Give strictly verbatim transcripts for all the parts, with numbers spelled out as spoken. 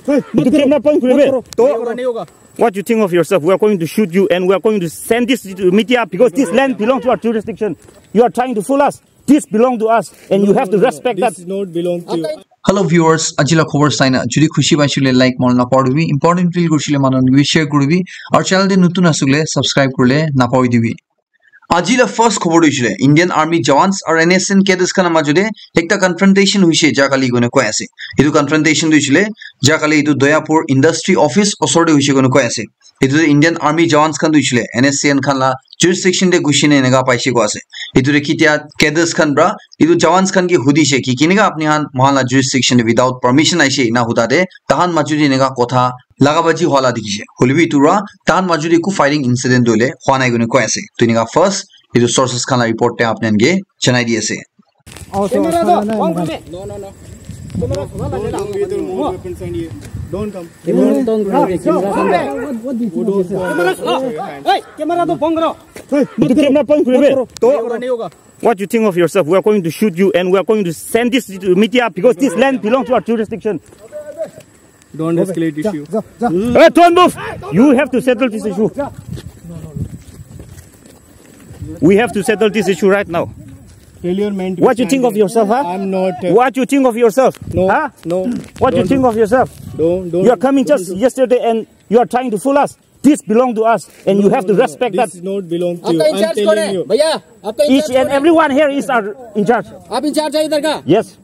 Hey, etu camera point kuri be. To, what you think of yourself? We are going to shoot you and we are going to send this to media because this land belongs to our jurisdiction. You are trying to fool us. This belong to us and you have to respect that. This is not belong to you. Hello viewers, ajila khobor saina jodi khushi paisile like mon na poribi, important feel kurisile manu share kuribi, aru channel de nutun asile subscribe kurile na poribi. Ajila first khobor tu hoisile Indian Army jawans aru N S C N cadres khan majode ekta confrontation hoise jakali koina koi ase. Etu confrontation tu hoisile jakali etu Doyapur industry office osor te hoise koina koi ase. Etu tu Indian Army jawans khan tu hoisile N S C N khan la jurisdiction te gushi ne eneka paise koi ase. Etu tu kitia cadres khan pra etu jawans khan ke hudise ki kineka apni khan mohan la jurisdiction te without permission aise ena huda te tahan majode eneka kotha laga baji hola dikhi se. Hoilebi etu ra tahan majode eku firing incident tu hoile hua nai koina koi ase. Tu eneka first etu sources khan la report te apni khan ke janai di ase. Camera to on kuri de. No, no, no. Camera to on kuri de. Don't bring with your more weapons and ये. Don't come. Camera to on kuri de. Camera to on kuri de. Hey, camera to on kuri de. Hey, etu camera point kuri be. To, what you think of yourself? We are going to shoot you and we are going to send this to media because this land belongs to our jurisdiction. Don't escalate issue. Hey, don't move. You have to settle this issue. We have to settle this issue right now. Tell your man to What you stand think of here. Yourself, huh? I'm not, uh, What you think of yourself? No, huh? No. What you Don't think do. Of yourself? Don't, don't, You are coming don't just do. Yesterday and you are trying to fool us. This belong to us and you have to respect that. This is not belong to you. आपका इंचार्ज कौन है? भैया, आपका इंचार्ज कौन है? Each and everyone here is our in-charge. आप इंचार्ज है इधर का? Yes.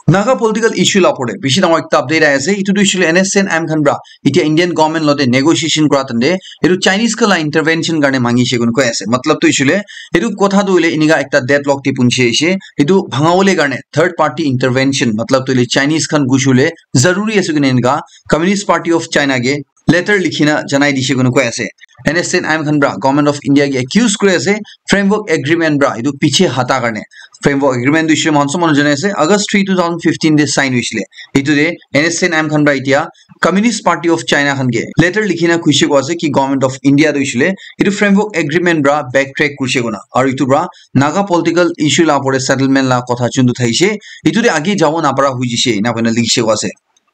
Naga political issue la pore bishi dangor ekta update ahi ase. Etu tu hoishe koile N S C N M khan pra etia Indian government lote negotiation kura tande etu Chinese khan la intervention karne mangi she koina koi ase. Matlab tu hoishe koile etu kotha tu hoile enika ekta deadlock te punchi ase. Etu bhangabole karne third party intervention, matlab tu hoile Chinese khan gushi bole zaruri ase koina enika Communist Party of China ke letter likhina janai dishe koina koi ase. N S C N M khan pra Government of India ke accuse kuri ase, framework agreement pra etu piche hata karne. Framework agreement tu hoishe koile moikhan sob manu jane ase, August three, two thousand fifteen te sign hoishe koile. Etu te N S C N M khan pra etia Communist Party of China khan ke letter likhina koise koi ase ki Government of India tu hoishe koile etu framework agreement pra backtrack kurise koina. Aru etu pra Naga political issue la pore settlement la kotha chundu thaise. Etu te age jabo napara hoi jise, ena koina likhi se koi ase.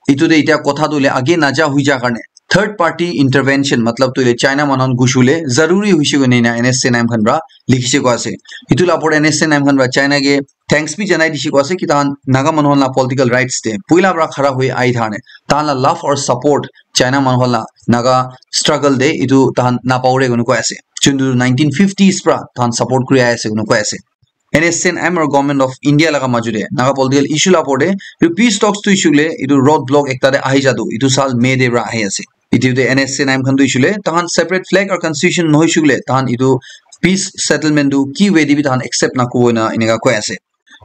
Etu te etia kotha tu hoile age naja hoi ja karne third party intervention, matlab tu hoile China manu khan gushi bole zaruri hoise koina ena N S C N M khan pra likhi se koi ase. Etu la pore N S C N M khan pra China ke thanks bi janai dishe koi ase ki tahan Naga manu khan la political rights te puila pra khara hoi ahi thane tahan la love or support China manu khan la Naga struggle te etu tahan napao re koina koi ase. Chundu nineteen fifties pra tahan support kuri ahi ase koina koi ase. N S C N M aru Government of India laga majute Naga political issue la opor te etu peace talks tu issue le etu road block ekta te ahi jatu etu sal May te pra ahi ase. Etu te N S C N M khan tu issue le tahan separate flag aru constitution nohoi shukle tahan etu peace settlement tu ki way te bi tahan accept na kubo na eneka koi ase.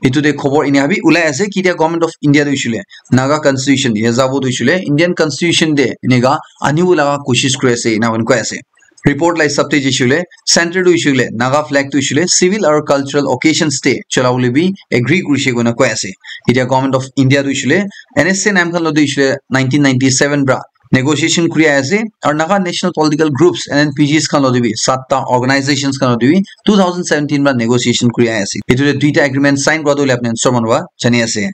Etu te khobor eneka bi ulai ase ki etia Government of India tu issue le Naga constitution ya jabo tu issue le Indian constitution te eneka anibo laga koshish kuri ase ena koi ase. Report la hisab te jaise koile center tu hoise koile Naga flag tu hoise koile civil aru cultural occasions te chola bole bi agree kurise koina koi ase. Etia Government of India tu hoise koile N S C N M khan lo tu hoise koile nineteen ninety-seven pra negotiation kuri ahi ase aru Naga national political groups N N P Gs khan lo tu bi satta organizations khan lo tu bi two thousand seventeen pra negotiation kuri ahi ase. Etu te duita agreement sign kura tu hoile apni khan sob manu para jani ase.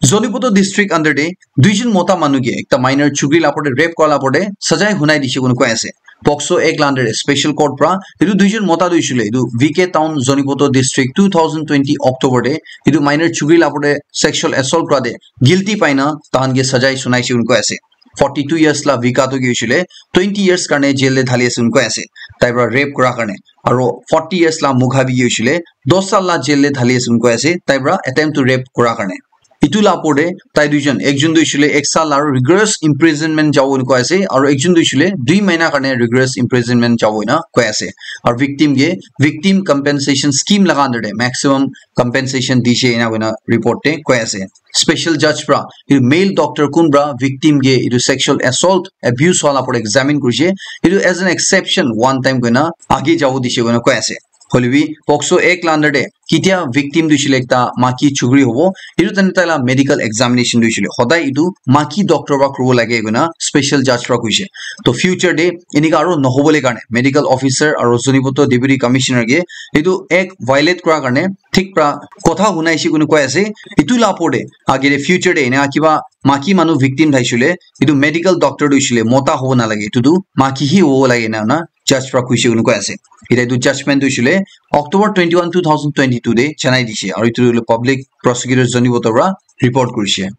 Zoniputo district under te duijon mota manu ke ekta minor chukri la opor te rape kora la opor te sajai hunai dise koina koi ase. POCSO Act la under te special court pra etu duijon mota tu hoise koile etu V K Town Zoniputo district two thousand twenty October te etu minor chukri la opor te sexual assault kora te guilty pai na tahan ke sajai sunai se koina koi ase. Forty two years la Vika tu ki hoise koile twenty years karne jail te dhali ase koina koi ase. Tai pra rape kora karne. Aro forty years la Mukha bi ki hoise koile dos sal la jail te dhali ase koina koi ase. Tai pra attempt to rape kora karne. Etu la opor te tai duijon, ekjon tu hoise koile ek sal aru rigorous imprisonment jabo koina koi ase, aru ekjon tu hoise koile dui mahina karne rigorous imprisonment jabo koina koi ase. Aru victim ke victim compensation scheme laga under te maximum compensation dise ena koina report te koi ase. Special judge pra etu male doctor kun pra victim ke etu sexual assault, abuse wala opor examine kurise. Etu as an exception, one time koina age jabo dise koina koi ase. Hoilebi POCSO Act la under te ketia victim tu hoishile ekta maki chukri hobo, etu time tai la medical examination tu hoishile hodai etu maki doctor para kuribo lage koina special judge para koishe. To future te enika aro nohobole karne medical officer aro Zunheboto deputy commissioner ke etu act violate kura karne thik pra kotha hunaishe koina koi ase. Etu la opor te age te future te ena kiba maki manu victim thaishile etu medical doctor tu hoishile mota hobo nalage, etu tu maki hi hobo lage ena na judge pra koishe koina koi ase. Eta etu judgment tu hoishile October twenty-one, two thousand twenty-two te janai dishe aru etu public prosecutor Zunheboto pra report kurishe.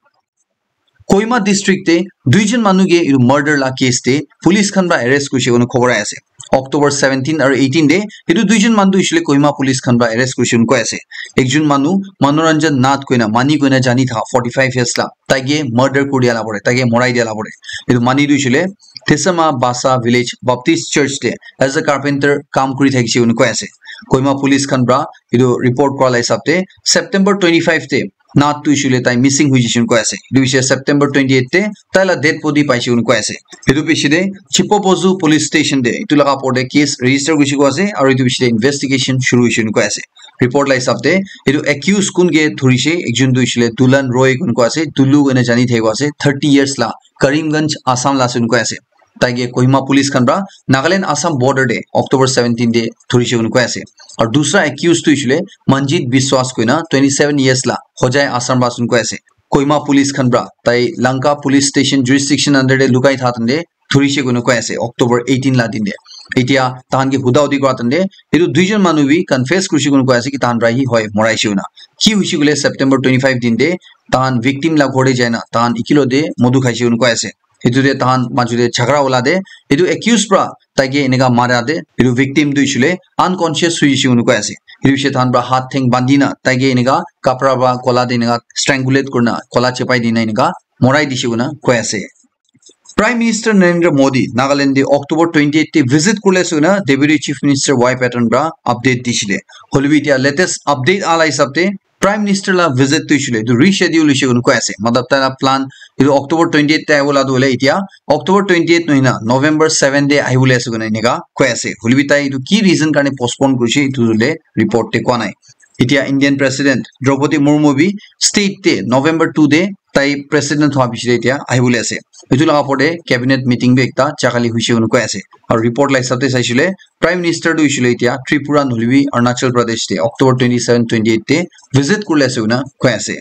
Kohima district te duijon manu ke etu murder la case te police khan pra arrest kurishe koina khobor ai ase. October seventeen aru eighteen te etu duijon manu tu hoishile Kohima police khan pra arrest kurishe koina koi ase. Ekjon manu Manoranjan Nath koina mani koina jani tha forty-five years la tai ke murder kuri dia la pore, tai ke morai dia la pore. Etu mani tu hoishile Tesama Basa village Baptist church te as a carpenter kam kuri thakishe koina koi ase. Kohima police khan pra etu report kura la hisab te September twenty-five te Nath tu hoishile tai missing hoi jishe koina koi ase. Etu hoishe September twenty-eight te tai la dead body paishe koina koi ase. Etu piche te Chipopozu police station te etu laga opor te case register kurishe koina ase aru etu piche te investigation shuru hoishe koina koi ase. Report la hisab te etu accused kun ke dhurishe, ekjon tu hoishile Dulan Roy koina koi ase, Dulu koina jani thaki ase, thirty years la Karimganj Assam la ase koina koi ase. Tai ke Kohima police khan pra Nagaland Assam border te October seventeen te dhurishe koina koi ase. Aru dusra accused tu hoishile Manjit Biswas koina twenty-seven years la Hojai Assam pra ase koina koi ase. Kohima police khan pra tai Lanka police station jurisdiction under te lukai tha tante dhurishe koina koi ase October eighteen la din te. Etia tahan ke huda hudi kura tante etu duijon manu bi confess kurishe koina koi ase ki tahan pra hi hoi moraishe koina. Ki hoishe koile September twenty-five din te tahan victim la ghor te jaina tahan ekilok te modu khaishe koina koi ase. Etu te tahan maju te jhagara ula te etu accused pra tai ke eneka mara te etu victim tu hoishile unconscious hoi jishe koina koi ase. Etu piche tahan pra hath theng bandi na tai ke eneka kapra pra gola te eneka strangulate kurina gola chepai dina eneka morai dishe koina koi ase. Prime Minister Narendra Modi Nagaland te October twenty-eight te visit kurle ase koina Deputy Chief Minister Y Patton pra update dishile. Hoilebi etia latest update ala hisab te Prime Minister la visit tu hoishile etu reschedule hoishe koina koi ase. Matlab tai la plan etu October twenty-eight te ahibola tu hoile etia October twenty-eight nohoi na November seven te ahibole ase koina eneka koi ase. Hoilebi tai etu ki reason karne postpone kurishe etu hoile report te koi nai. Etia Indian President Draupadi Murmu bi state te November two te tai president hwa piche te etia ahibole ase. Etu laga opor te cabinet meeting bi ekta jakali hoishe koina koi ase. Aru report la hisab te saishile Prime Minister tu hoishile etia Tripura nohoilebi Arunachal Pradesh te October twenty-seven, twenty-eight te visit kurle ase koina koi ase.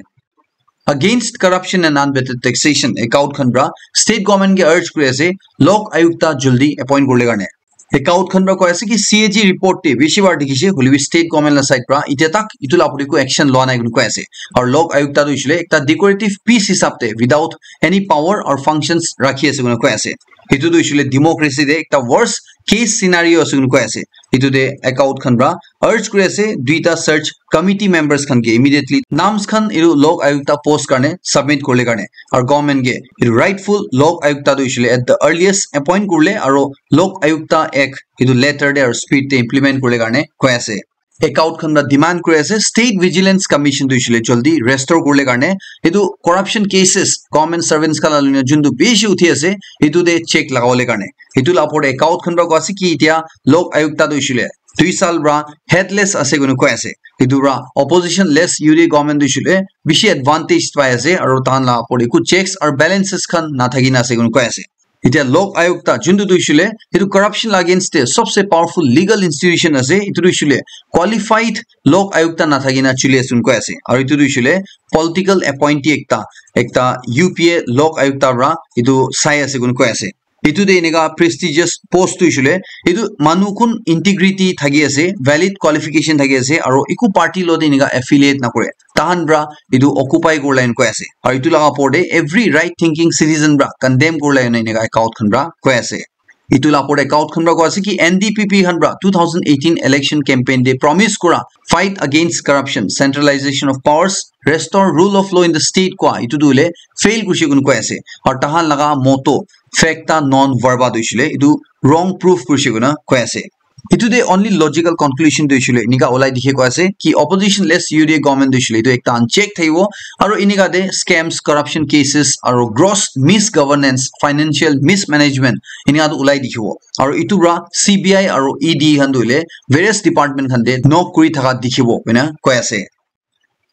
Against corruption and unvetted taxation, ACAUT khan pra state government ke urge kuri ase Lok Ayukta jaldi appoint kurle karne. ACAUT khan pra koi ase ki C A G report te bishi bar dikhishe, hoilebi state government la side pra etia tak etu la opor te ko action loa nai koina koi ase. Aru Lok Ayukta tu hoishile ekta decorative piece hisab te without any power or functions rakhi ase koina koi ase. Etu tu hoishile democracy te ekta worst case scenario ase koina koi ase. Etu te ACAUT khan pra urge kuri ase duita search committee members khan ke immediately names khan etu Lok Ayukta post karne submit kurle karne aru government ke etu rightful Lok Ayukta tu hoishile at the earliest appoint kurle aru Lok Ayukta Act etu letter te aru speed te implement kurle karne koi ase. ACAUT khan pra demand kuri ase State Vigilance Commission tu hoishile jaldi restore kurle karne etu corruption cases government servants khan la loina juntu bishi uthi ase etu te check lagabole karne. Etu la opor te ACAUT khan pra koi ase ki etia Lok Ayukta tu hoishile dui sal pra headless ase koina koi ase. Etu pra opposition less U D A government tu hoishile bishi advantage pai ase aru tahan la opor te eku checks aru balances khan nathaki na ase koina koi ase. Etia Lok Ayukta juntu tu hoishile etu corruption la against te sobse powerful legal institution ase, etu tu hoishile qualified Lok Ayukta nathaki na chuli ase koina koi ase. Aru etu tu hoishile political appointee ekta, ekta U P A Lok Ayukta pra etu sai ase koina koi ase. Etu te eneka prestigious post tu hoishile etu manu kun integrity thaki ase, valid qualification thaki ase aru eku party lo te eneka affiliate nakore. Tahan pra etu occupy kurle koina koi ase. Aru etu laga opor te every right thinking citizen pra condemn kurle koina eneka ACAUT khan pra koi ase. Etu la opor te ACAUT khan pra koi ase ki N D P P khan pra two thousand eighteen election campaign te promise kura fight against corruption, centralization of powers, restore rule of law in the state koi etu tu hoile fail kurishe koina koi ase. Aru tahan laga motto facta non verba tu hoishile etu wrong proof kurishe koina koi ase. Etu de only logical conclusion tu hoishe koile enika ulai dikhi pai ase ki opposition less U D A government tu hoishe koile etu ekta uncheck thakibo, aro enika de scams, corruption cases aro gross misgovernance, financial mismanagement enika tu ulai dikhibo. Aro etu para C B I aro E D khan tu hoile various department khan de knock kuri thaka dikhibo koina koi ase.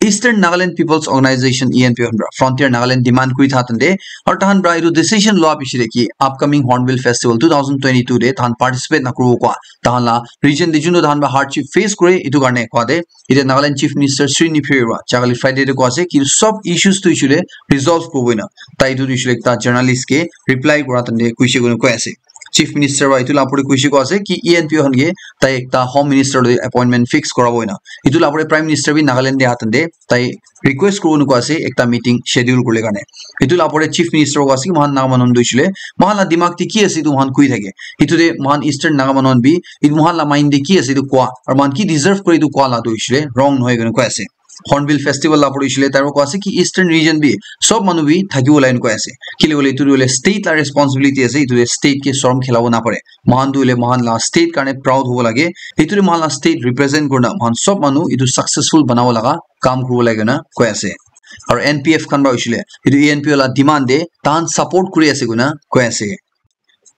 Eastern Nagaland People's Organization, E N P O, khan pra Frontier Nagaland demand kuri tha tande, aru tahan pra etu decision loa piche de ki upcoming Hornbill Festival two thousand twenty-two de tahan participate na kuribo kwa, tahan la region de juntu tahan pra hardship face kore, etu karne kwa de, ite Nagaland Chief Minister Sri Neiphiu pra jagale Friday de kwa ase ki sob issues tu issue de resolve kuribo na, tai etu issue de ekta journalist ke reply kura tande kuishe koi ase. Chief Minister wa etu la pore kuishe ko ase ki E N P O khan ke tai ekta Home Minister loi appointment fix korabo ena. Etu la pore Prime Minister bi Nagaland de atan de tai request koribo nuko ase ekta meeting schedule kurle karne. Etu la pore Chief Minister ko ase ki mohan Naga manu tu hoishe le mohan la dimag te ki ase etu mohan koi thake. Etu de mohan Eastern Naga manu bi etu mohan la mind de ki ase etu kwa aru mohan ki deserve kore etu kwa la tu hoishe le wrong nohoi kena koi ase. Hornbill Festival la pore hoishe le tai ko ase ki Eastern region bi sob manu bi thakibo lai koi ase. Kile koile etu hoile state la responsibility ase, etu de state ke sorom khilabo na pare. Mohan tu hoile mohan la state karne proud hobo lage. Etu de mohan la state represent kurna mohan sob manu etu successful banabo laga kam kuribo lage na koi ase. Aru N P F khan ba hoishe le etu E N P O la demand de tahan support kuri ase koina koi ase.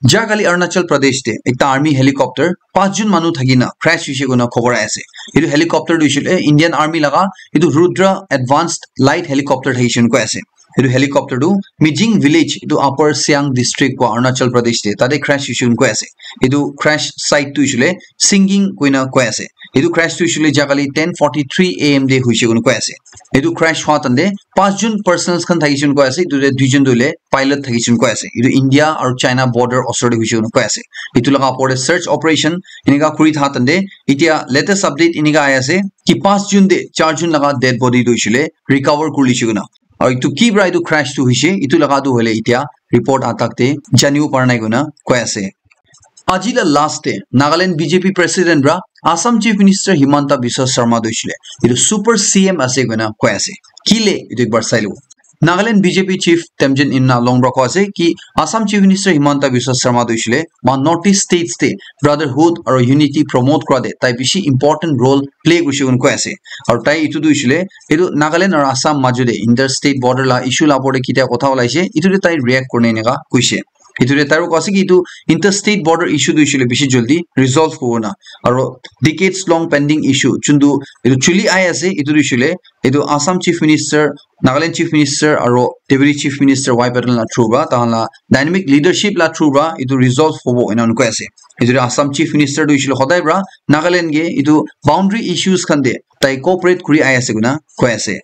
Jagale Arunachal Pradesh de ekta army helicopter panch jon manu thaki na crash hoishe koina khobor ahi ase. Etu helicopter tu hoishe le Indian Army laga etu Rudra Advanced Light Helicopter thakishe koina koi ase. Etu helicopter tu Mijing Village, etu Upper Siang District ko Arunachal Pradesh de, tate crash hoishe koina koi ase. Etu crash site tu hoishe le Singing koina koi ase. Etu crash tu hoishe le jagale ten forty-three A M de hoishe koina koi ase. Etu crash hua tande panch jon personnels khan thakishe koina koi ase. Etu de dui jon tu hoile pilot thakishe koina koi ase. Etu India aru China border osor de hoishe koina koi ase. Etu laga opor de search operation enika kuri tha tande, etia latest update enika ahi ase ki panch jon de char jon laga dead body tu hoishe le recover kuri lishe koina. Aru etu ki pra etu crash tu hoishe, etu laga tu hoile etia report atak te janibo para nai koina koi ase. Aji la last te Nagaland B J P president pra Assam Chief Minister Himanta Biswa Sarma tu hoishe le etu super C M ase koina koi ase. Kile etu ekbar sai lo. Nagaland B J P Chief Temjen Imna Long pra koi ase ki Assam Chief Minister Himanta Biswa Sarma tu hoishe le ma North East states te brotherhood aru unity promote kura de tai bishi important role play kurishe koina koi ase. Aru tai etu tu hoishe le etu Nagaland aru Assam majo de interstate border la issue la opor de kitia kotha olaishe, etu de tai react kurine enika koishe. Etu de tai koi ase ki etu interstate border issue tu hoishe le bishi jaldi resolve kuribo na. Aru decades long pending issue juntu etu chuli ahi ase, etu tu hoishe le etu Assam Chief Minister, Nagaland Chief Minister aru Deputy Chief Minister Y Patil la through pra tahan la dynamic leadership la through pra etu resolve hobo ena koi ase. Etu de Assam Chief Minister tu hoishe le hodai pra Nagaland ke etu boundary issues khan de tai cooperate kuri ahi ase koina koi ase.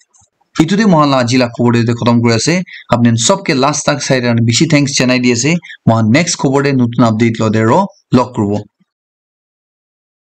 Etu de mohan la aji la khobor de khotom kuri ase. Apni sob ke last tak sai karne bishi thanks janai di ase. Mohan next khobor de notun update lo de ro log kuribo.